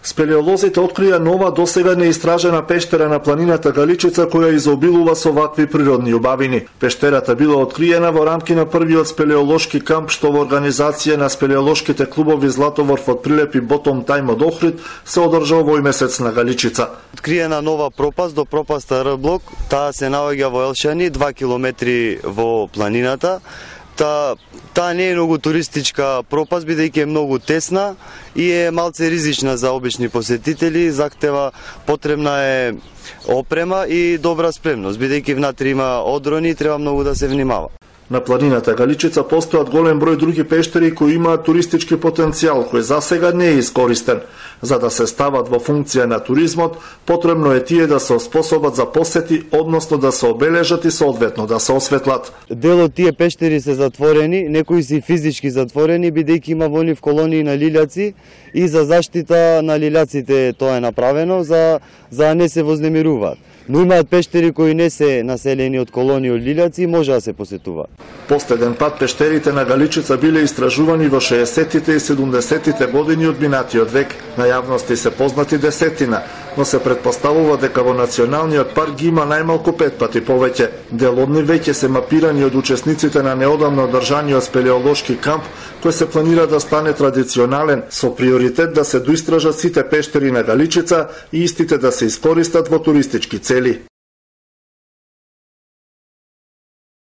Спелеолозите открија нова досега неистражена пештера на планината Галичица која изобилува со вакви природни убавини. Пештерата била откриена во рамки на првиот спелеолошки камп што во организација на спелеолошките клубови Златоворф од Прилеп и Ботом Тајм од Охрид се одржал овој месец на Галичица. Откриена нова пропаст до пропаста Р-блок, таа се наоѓа во Елшани, 2 километри во планината. Таа не е многу туристичка пропаст, бидејќи е многу тесна и е малце ризична за обични посетители, захтева потребна е опрема и добра спремност, бидејќи внатре има одрони и треба многу да се внимава. На планината Галичица постојат голем број други пештери кои имаат туристички потенцијал, кој засега не е искористен. За да се стават во функција на туризмот, потребно е тие да се способат за посети, односно да се обележат и соодветно да се осветлат. Дел од тие пештери се затворени, некои се физички затворени, бидејќи има во нив колонии на лилјаци и за заштита на лилјаците тоа е направено, за да не се вознемируваат. Но имаат пештери кои не се населени од колонии од лилјаци и може да се посетуваат. Последен пат пештерите на Галичица биле истражувани во 60-тите и 70-тите години од минатиот век. На јавности се познати десетина, но се претпоставува дека во националниот парк ги има најмалку 5 пати повеќе. Дел од нив веќе се мапирани од учесниците на неодамно одржаниот спелеолошки камп, кој се планира да стане традиционален, со приоритет да се доистражат сите пештери на Галичица и истите да се искористат во туристички цели.